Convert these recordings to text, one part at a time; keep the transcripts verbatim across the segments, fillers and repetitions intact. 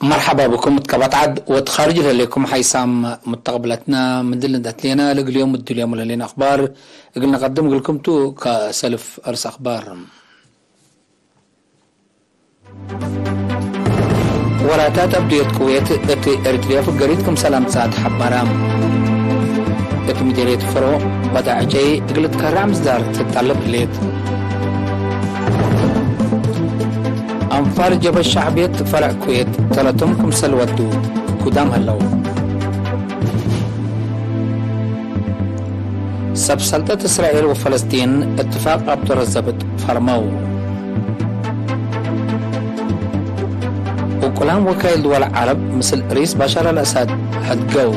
መርሐባ ብኩም እት ቀበት ዐድ ወእት ካርጅ ለህሌኩም ሓይሳም ሙተቅብለትና። ምድል እንዴ ህሌና ለእግል ዮም እድልዮም ለህሌነ አክባር እግል ነቀድም እግልኩም ቱ። ከሰልፍ እርስ አክባር። ወራታት አብድየት ቅዌት እት ኤሪትርያ ፍገሪት ክምሰል አምጽአት ሐበረ። እት ምዴርየት ፈሮ በዳዕጨይ እግል ትከረዕ ምስዳር ትጠለብ ህሌት። አንፋር ጀብሀት ሸዕብየት ፈረዕ ኩዌት ተለቶም ክምሰል ወዱ ጉዳም ሀለው። ሰብ ሰልጠት እስራኤል ወፈለስጢን እትፋቅ አብ ዶረት ዘብጥ ፈርመው። ውቁላም ወካይል ድወል ዐረብ ምስል ርኢስ ባሻር አልአሳድ ሀድገው።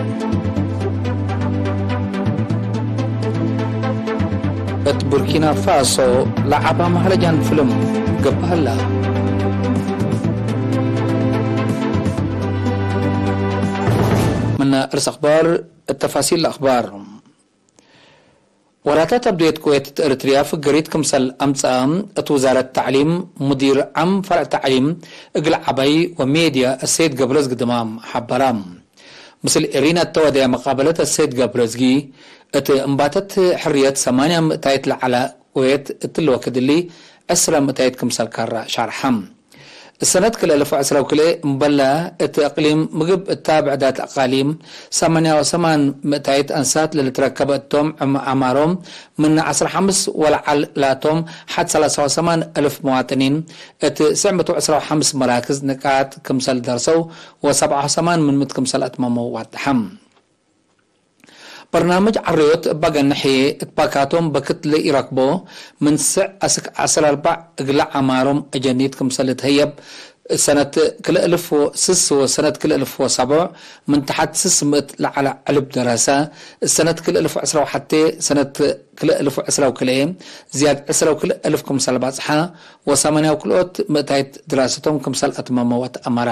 እት ቡርኪና ፋሶ ለዐባ መሀረጃን ፍልም ገብእ ሀላ። ምነ እርስ አክባር እት ተፋሲል ለአክባር። ወራታት አብድየት ቅዌት እት ኤሪትርያ ፍገሪት ክምሰል አምጽአ እት ውዛረት ተዕሊም ሙዲር ዓም ፈርዕ ተዕሊም እግል ዐባይ ወሜድያ እሰይድ ገብረዝጊ ድማም ሐበረ። ምስል ኤሪና እተ ወደየ መቃበለት እሰይድ ገብረዝጊ፣ እት እንባተት ሕርየት ሰማንያ ምእታይት ለዐለ ቅዌት እትሊ ወክድ እሊ ዕስረ ምእታይት ክምሰል ከረ ሸርሐ። እሰነት ክልኤ እልፍ ወዕስረ ወክልኤ እምበለ እት እቅሊም ምግብ እታ ብዕዳት አቃሊም ሰማንያ ወሰማን ምእታይት አንሳት ለልትረከበ እቶም፣ ዕም-፣ አማሮም ምን ዐስር ሐምስ ወለዐል ላቶም ሐድ ሰላሳ ወሰማን እልፍ መዋጥኒን እት ስዕ ምእት ወዕስራ ወሐምስ መራክዝ ንቃጥ ክምሰል ደርሰው ወሰብዓ ወሰማን ምን ምእት ክምሰል አትመመው ዋድሐ። በርናምጅ ዐረዮት እበ ገንሕ እት ባካቶም በክት ለኢረክቦ፣ ምን ስዕ አስክ ዐስር አርበዕ እግለ ዐማሮም አጀኒት ክምሰል ልትሀየብ፣ ሰነት ክልኤ እልፍ ወስስ ወሰነት ክልኤ እልፍ ወሰብዕ ምን ተሐት ስስ ምእት ለዐለ ዕልብ ደረሰ፣ ሰነት ክልኤ እልፍ ወዕስራ ወሐቴ ሰነት ክልኤ እልፍ ወዕስራ ወክልኤ ዝያድ ዕስራ ወክልኤ እልፍ ክምሰል በጽሐ፣ ወሰማንያ ወክልኦት ምእታይት ድራሰቶም ክምሰል አትመመ ወተአመረ።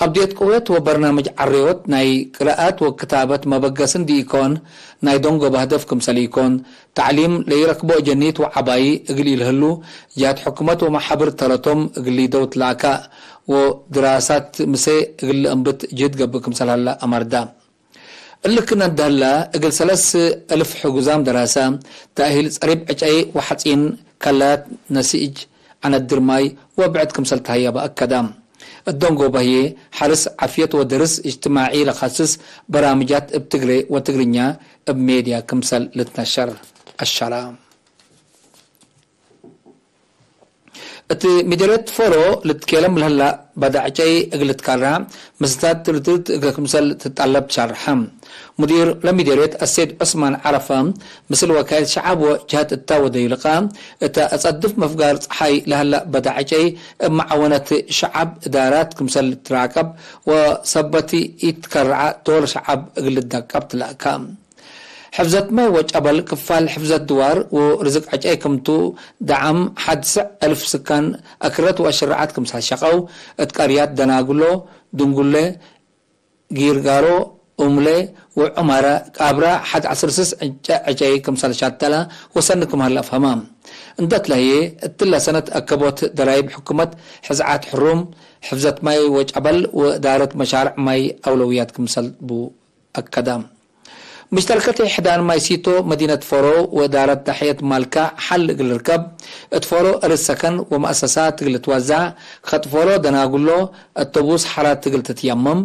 አብድየት ቅዌት ወበርናምጅ ዐረዮት ናይ ቅራአት ወክታበት መበገስ እንዲ ኢኮን፣ ናይ ደንጎበ ህደፍ ክምሰል ኢኮን፣ ተዕሊም ለኢረክቦ አጀኒት ወዐባይ እግል ኢልህሉ፣ ጀሀት ሕኩመት ወመሓብር ተረቶም እግል ሊደው ትላካእ፣ ወድራሳት ምሴ እግል ለአንብት ጅህድ ገብእ ክምሰል ሀለ አመርዳ። እሊ ክእነ እንዴ ህለ፣ እግል ሰለስ እልፍ ሕጉዛም ደራሰ፣ ተእሂል ጸሪብ ዕጨይ ወሐጺን፣ ከላት፣ ነሲእጅ፣ ዐነድር ማይ ወብዕድ ክምሰል ተሀየበ አከደ። እት ደንጎበ ህዬ፣ ሐርስ፣ ዓፍየት ወደርስ እጅትማዒ ለከስስ በራምጃት እብ ትግሬ ወትግርኛ እብ ሜድያ ክምሰል ልትነሸር አሸረ። እት ምዴርየት ፎሮ ልትኬለም ለህላ በዳዕጨይ እግል ልትካራ፣ ምስታት ትርትርት እግል ክምሰል ትጠለብ ትሸርሐ። ሙዲር ለምዴርየት አሰይድ ዑስማን ዐረፈ፣ ምስል ወካይል ሸዐብ ወጀሀት እታ ወደዩ ልቃ፣ እተ አጸድፍ መፍጋር ጸሓይ ለህላ በዳዕጨይ እብ መዓወነት ሸዐብ እዳራት ክምሰል ልትራቀብ ወሰበት ኢትከረዐ ዶር ሸዐብ እግል ልደቀብ ትለአካ። ሕፍዘት ማይ ወጨበል፣ ክፋል ሕፍዘት ድዋር ወርዝቅ ዕጨይ ክምቱ፣ ደዓም ሐድ ስዕ እልፍ ስካን አክረት ወአሽረዓት ክምሰል ሸቀው፣ እት ቀርያት ደናጉሎ፣ ድንጉሌ፣ ጊርጋሮ፣ ኡምሌ ወዑማረ ቃብራ ሐድ ዐስር ስስ ዕጨ-፣ ዕጨይ ክምሰል ሻተለ ወሰኒ ክም ሀለ አፍሀመ። እንዴ ትለህየ፣ እትለ ሰነት አከቦት ደራይብ ሕኩመት ሕዝዓት ሕሩም፣ ሕፍዘት ማይ ወጨበል ወእዳረት መሻርዕ ማይ አውለውያት ክምሰል ቡ። አከደ። ምሽተርከት ሕዳን ማይ ሲቶ መዲነት ፎሮ ወእዳረት ዳሕየት ማልካ ሐል እግል ልርከብ፣ እት ፎሮ እርድ ሰከን ወመአሰሳት እግል ልትወዘዕ፣ ከጥ ፎሮ ደናጉሎ፣ አቶቡስ ሐራት እግል ትትየመም፣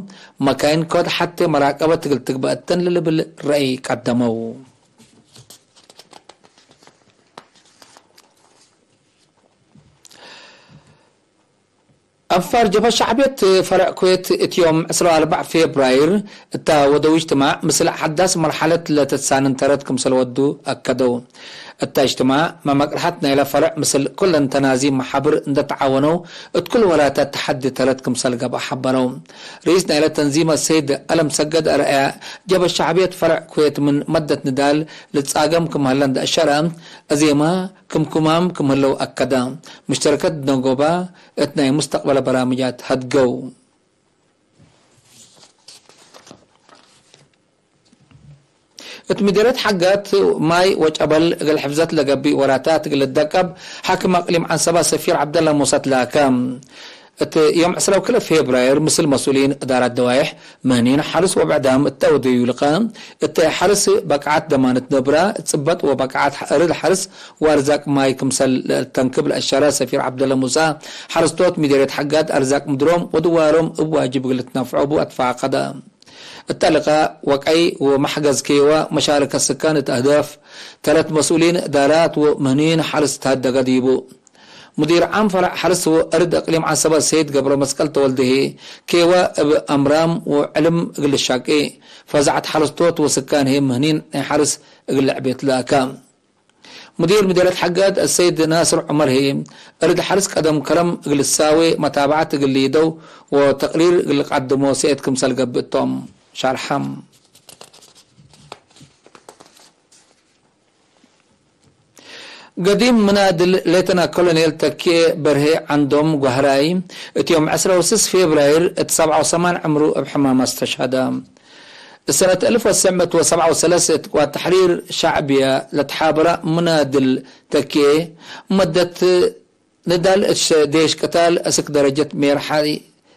መካይን ኮድ ሐቴ መራቀበት እግል ትግበእ እተን ለልብል ረአይ ቀደመው። አንፋር ጀብሀት ሸዕብየት ፈርዕ ኩዌት እት ዮም ዕስራ ወአርበዕ ፌብራይር እተ ወደው እጅትማዕ ምስል ሐዳስ መርሐለት ለትትሳንን ተረት ክምሰል ወዱ አከደው። እተ እጅትማዕ መመቅርሐት ናይለ ፈርዕ ምስል ኩለን ተናዚም መሓብር እንደ ተዓወነው እት ኩል ወላተ ተሐዲ ተረት ክምሰል ገብአ ሐበረው። ርኢስ ናይለ ተንዚም አሰይድ አለም ሰገድ አርአያ ጀብሀት ሸዕብየት ፈርዕ ኩዌት ምን መደት ንዳል ልትጻገም ክም ሀለ እንደ አሸረ፣ አዜመ ክምኩማም ክም ህለው አከደ። ሙሽተረከት ደንጎባ እት ናይ ሙስተቅበለ በራምጃት ሀድገው። እት ምዴርየት ሐጋት ማይ ወጨበል እግል ሕፍዘት ለገብእ ወራታት እግል ልደቀብ፣ ሓክም አቅሊም ዐንሰባ ሰፊር ዐብደላ ሙሰ ትላከ። እት ዮም ዕስራ ወክልኤ ፌብራይር፣ ምስል መስኡሊን እዳራት ደዋይሕ፣ ምህኒን ሐርስ ወብዕዳም እተ ወደዩ ልቀ፣ እተ ሐርስ በቅዓት ደማነት ነብራ፣ ጽበጥ ወበቅዓት እርድ ሐርስ ወአርዛቅ ማይ ክምሰል ለልተንክብ ለአሸረ ሰፊር ዐብደለ ሙሳ፣ ሐረስቶት ምዴርየት ሐጋድ አርዛቅ ምድሮም ወድዋሮም እብ ዋጅብ እግል ልትነፍዖ ቡ አትፋቀደ። እተ ልቃእ ወቀይ ወመሕገዝ ኬወ መሻረከት ስካን እት አህዳፍ፣ ተለት መስኡሊን እዳራት ወምህኒን ሐርስ ተሀደገ ዲቡ። ሙዲር ዓም ፈረዕ ሐርስ ወእርድ እቅሊም ዐሰበት ሰይድ ገብረመስቀል ተወልደ ህዬ፣ ኬወ እብ አምራም ወዕልም እግል ልሻቄ፣ ፈዛዐት ሐረስቶት ወስካን ህዬ ምህኒን ናይ ሐርስ እግል ልዕቤት ለአከ። ሙዲር ምዴርየት ሐጋድ አሰይድ ናስር ዑመር ህዬ፣ እርድ ሐርስ ቀደም ከረም እግል ልሳዌ መታብዐት እግል ሊደው ወተቅሪር እግል ልቀድሞ ሰእየት ክምሰል ገብእ ቶም ሸርሐም። ገዲም ምናድል ሌተና ኮሎኔል ተኬ በርሄ ዐንዶም ጓህራይ፣ እት ዮም ዕስራ ወስስ ፌብራይር እት ሰብዓ ወሰማን ዕምሩ እብ ሕማም አስተሽሀደ። እሰነት አልፍ ወትሰዕ ምእት ወሰብዓ ወሰለስ እት ቅዋት ተሕሪር ሸዕብየ ለተሓበረ ምናድል ተኬ፣ መደት ንዳል እት ሸ-፣ ዴሽ ቅታል እስክ ደረጀት ሜርሓይ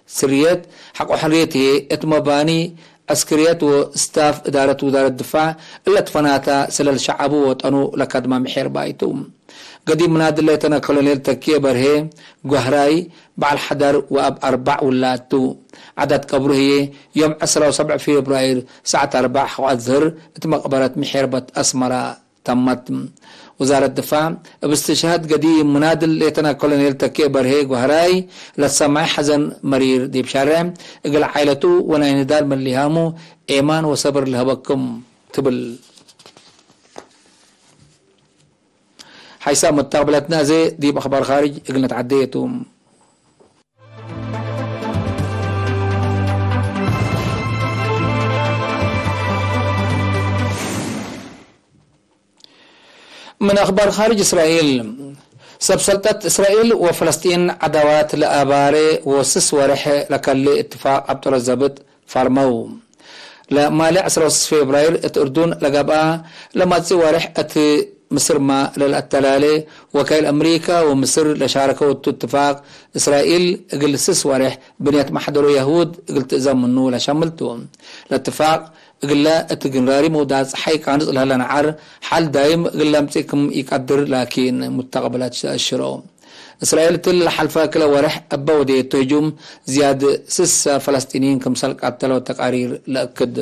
ስርየት ሐቆ ሕርየት ህዬ፣ እት መባኒ ዐስክርየት ወስታፍ እዳረት ውዛረት ድፋዕ እለ ትፈናተ ስለል ሸዐቡ ወወጠኑ ለከድመ ምሔርባይ ቱ። ገዲም ምናድል ሌተና ኮሎኔል ተኬ በርሄ ጓህራይ፣ በዐል ሐዳር ወአብ አርበዕ ውላድ ቱ። ዐዳት ቀብሩ ህዬ ዮም ዕስራ ወሰብዕ ፌብራይር ሰዓት አርበዕ ሐቆ አዝህር እት መቅበረት ምሔርበት አስመረ። ተመት። ውዛረት ድፋዕ፣ እብ እስትሽሃድ ገዲም ምናድል ሌተና ኮሎኔል ተኬ በርሄ ጓህራይ ለትሰመዐ ሐዘን መሪር ዲብ ሸሬ፣ እግል ዓኢለቱ ወናይ ንዳል መሊሃሙ ኤማን ወሰብር ለሀበኩም ትብል። ሓይሳም መተቅብለትነ አዜ ዲብ አኽባር ካርጅ እግል ንትዓደየ ቱ። ምን አኽባር ካርጅ እስራኤል፣ ሰብ ሰልጠት እስራኤል ወፍለስጢን ዐዳዋት ለአባሬ ወስስ ወሬሕ ለከሌ እትፋቅ አብጠሎ ዘብጥ ፈርመው። ለማሌ ዕስራ ወስስ ፌብራይር እት እርዱን ለገብአ ለማጽእ ወሬሕ እት ምስርመ ለለአተላሌ ወካይል አምሪከ ወምስር ለሻረከው እቱ እትፋቅ፣ እስራኤል እግል ስስ ወሬሕ ብንየት መሕደሮ የሁድ እግል ትእዘም ምኑ ለሸምል ቱ። ለእትፋቅ እግለ እት ግንራሪ መውዳት ጸሓይ ቃንጽ ለህለ ነዓር፣ ሐል ዳይም እግል ለምጽእ ክም ኢቀድር ላኪን፣ ሙተቅብለት ተአሽሮ። እስራኤል እትሊ ለሐልፈ ክለ ወሬሕ እበ ወዴቱ ህጁም፣ ዝያድ ስሰ ፈለስጢንይን ክምሰል ቀተለው ተቃሪር ለአክድ።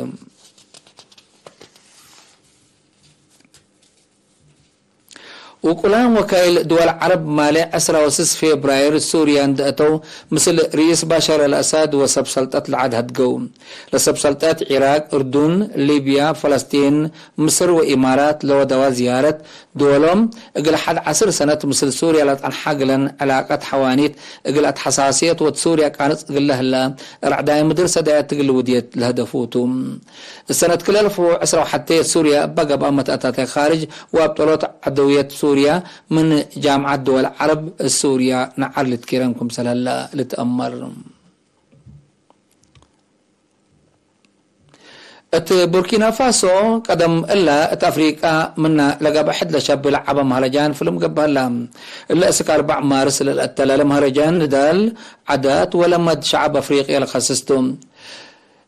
ውቁላን ወካይል ድወል ዐረብ ማሌ ዕስራ ወስስ ፌብራይር ሱርያ እንደ አተው፣ ምስል ርኢስ ባሻር አልአሳድ ወሰብ ሰልጠት ለዐድ ሀድገው። ለሰብ ሰልጠት ዒራቅ፣ እርዱን፣ ሊብያ፣ ፈለስጢን፣ ምስር ወኢማራት ለወደዋ ዝያረት፣ ድወሎም እግል ሐድ ዐስር ሰነት ምስል ሱርያ ለጸንሐ ግለን ዕላቀት ሐዋኒት እግል አትሐሳስየት ወድ ሱርያ ቃንጽ እግለ ህለ፣ ረዕዳይ ምድር ሰዳየት እግል ውድየት ለህደፉ ቱ። እሰነት ክለ አልፍ ወዕስራ ወሐቴ ሱርያ እበ ገብአ መትአታታይ ካርጅ ወአብጠሎት ዐደውየት ሱርያ ምን ጃምዐት ድወል ዐረብ ሱርያ ነዓር ልትኪረን ክምሰል ህለ ልትአመር። እት ቡርኪና ፋሶ ቀደም እለ እት አፍሪቃ ምነ ለገብአ ሕድ ለሸብህ ለዐበ መህረጃን ፍልም ገብእ ህለ። እለ እስክ አርበዕ ማርስ ለልአተላለ መህረጃን ንዳል፣ ዐዳት ወለመድ ሸዐብ አፍሪቅየ ለከስስ ቱ።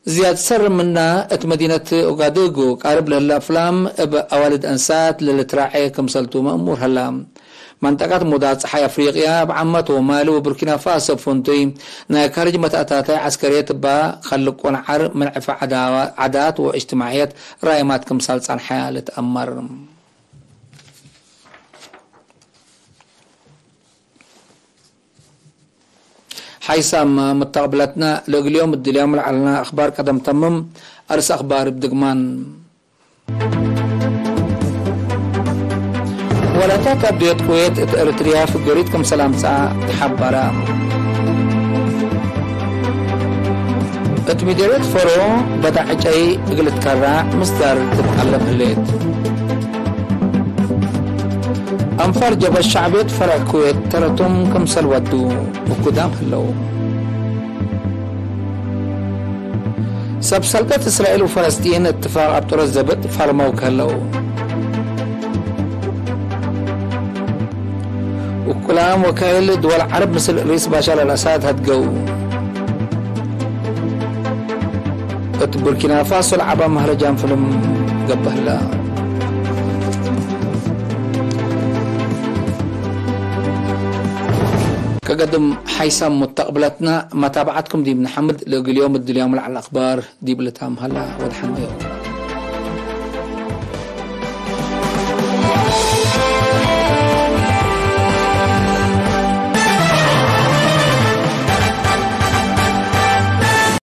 ዝያድ ሰር ምና እት መዲነት ኦጋዱጉ ቃርብ ለህለ አፍላም እብ አዋልድ አንሳት ለልትራዔ ክምሰልቱ መእሙር ሀላ። መንጠቀት ሙዳት ጸሓይ አፍሪቅያ እብ ዓመት ወማሊ ወቡርኪና ፋሶ እብ ፍንቱይ ናይ ካርጅ መትአታታይ ዐስከርየት እባ ከልቆ ነዓር ምን ዕፈ ዐዳዋ-፣ ዐዳት ወእጅትማዕየት ራይማት ክምሰል ጸንሐ ልትአመር። ሓይሳም መተቅብለትነ፣ ለእግል ዮም እድልያም ለዐልነ አኽባር ቀደም ተምም። አርስ አኽባር እብ ድግማን። ወላታት አብድየት ኩዌት እት ኤረትርያ ፍገሪት ክምሰል አምጽአ ተሐበረ። እት ምዴርየት ፈሮ በዳዕ ዕጨይ እግል ትከራዕ ምስዳር ትትአለብ ህሌት። አንፋር ጀብሀት ሸዕብየት ፈረዕ ኩዌት ተረቶም ክምሰል ወዱ ውኩዳም ህለው። ሰብ ሰልጠት እስራኤል ወፈለስጢን እትፋቅ አብጠሮት ዘብጥ ፈርመው ከህለው። ውኩላም ወካይል ድወል ዐረብ ምስል ሪስ ባሻር አልአሳድ ሀድገው። እት ቡርኪና ፋሶ ለዐባ መህረጃን ፍልም ገብአ ህለ። ከገድም ሓይሳም ሙተቅብለትና መታብዐትኩም ዲብ ነሐምድ፣ ለእግል ዮም እድልያም ለዐለ አክባር ዲብ ልታም ሀላ ወድሐን ዮም።